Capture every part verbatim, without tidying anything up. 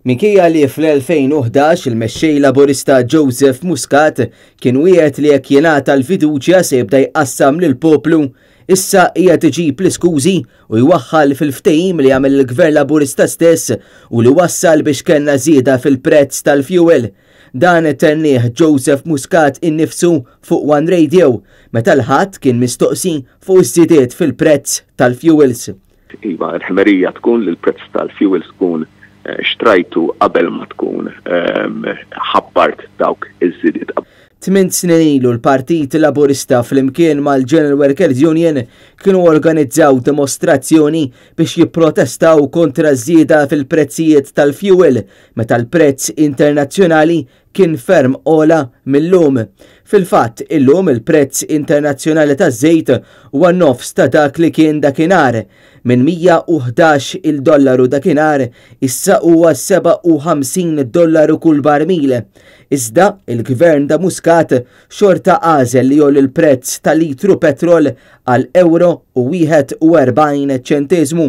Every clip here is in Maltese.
Minkejja li fl-elfejn u ħdax il-mexxej Laburista Joseph Muscat kien wiegħed li jekk jingħata l-fiduċja se jibda jqassam lill-poplu, issa qiegħed iġib l-iskużi u jwaħħal fil-ftehim li għamel il-Gvern Laburista stess u li wassal biex kellna żieda fil-prezz tal-fuel. Dan tennieh Joseph Muscat innifsu fuq One Radio meta l-Ħadd kien mistoqsi fuq iż-żidiet fil-prezz tal-fuels. Iva, l-ħmerija tkun li l-prezz tal-fuels tkun, eh, xtrajtu qabel ma tkun, ehm, ħabbart dawk iż-żidiet. Tmien snin ilu l-Partit Laburista flimkien mal-General Workers Union kienu organizzaw dimostrazzjoni biex jipprotestaw kontra żieda fil-prezzijiet tal-fuel meta l-prezz internazzjonali kien ferm ogħla mill-lum. Fil-fatt, illum il-prezz internazzjonali taż-żejt huwa nofs ta' dak li kien dakinhar. Minn mija u ħdax il-dollaru dakinhar issa huwa seba' u ħamsin dollaru kull barmil. Iżda il-gvern ta' Muscat xorta għażel li jgħolli l-prezz tal-litru petrol għal euro u wieħed u erbgħin ċenteżmu.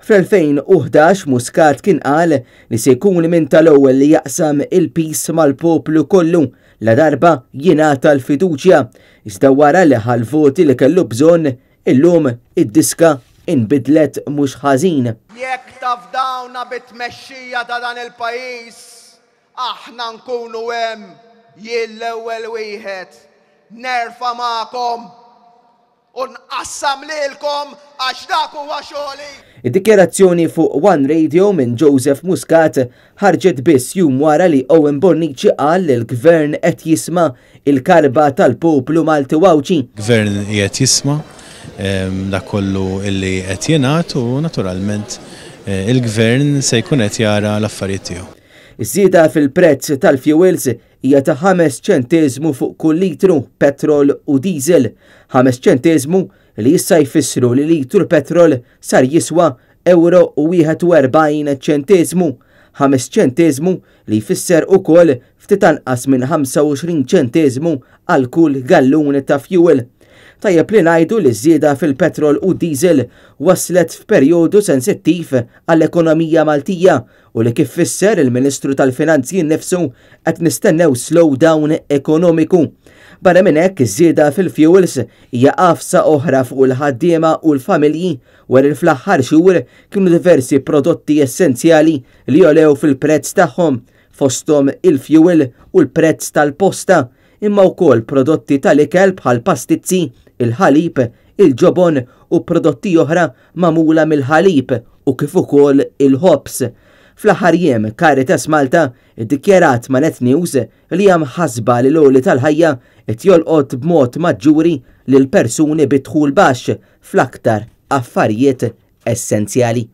Fl-elfejn u ħdax Muscat kien qal li se jkun minn tal-ewwel li jaqsam il-pis mal-poplu kollu la darba jingħata l-fiduċja. Iżda wara li ħa l-voti li kellu bżonn, illum id-diska inbidlet mhux ħażin. Jekk tafdawna bit-tmexxija ta' dan il-pajjiż, aħna nkunu hemm jien l-ewwel wieħed. Nerfa' magħkom u nqassam lilkom għax dak huwa xogħli. Id-dikjarazzjoni fuq One Radio minn Joseph Muscat ħarġet biss jum wara li Owen Bonnici qal li l-gvern qed jisma' il-karba tal-poplu Malti Għawdxi. Gvern qiegħed jisma', ehm, dak kollu illi qed jingħad u naturalment, eh, il-gvern se jkun qed jara l-affarijiet tiegħu. Iż-żieda fil-prezz tal-fuels hija ta' ħames ċenteżmu fuq kull litru petrol u diesel, ħames ċenteżmu li issa jfissru li litru petrol sar jiswa euro u wieħed u erbgħin ċenteżmu, ħames ċenteżmu li jfisser ukoll ftit anqas minn ħamsa u għoxrin ċenteżmu għal kull gallun ta' fuel. Tajjeb li ngħidu li ż-żieda fil-petrol u diesel waslet f'perjodu sensittiv għall-ekonomija Maltija u li kif fisser il-Ministru tal-Finanzi nnifsu qed nistennew slowdown ekonomiku. Barra minn hekk, iż-żieda fil-fuels hija qafsa oħra fuq il-ħaddiema u l-familji wara li fl-aħħar xhur kienu diversi prodotti essenzjali li għolew fil-prezz tagħhom, fosthom il-fuel u l-prezz tal-posta, imma wkoll prodotti tal-ikel bħal pastizzi, il-ħalib, il-ġobon u prodotti oħra magħmula mill-ħalib u kif ukoll il-ħobż. Fl-aħħar jiem Caritas Malta iddikjarat ma' Net News li hemm ħasba li l-għoli tal-ħajja qed jolqot b'mod maġġuri lil persuni bi dħul baxx fl-aktar affarijiet essenzjali.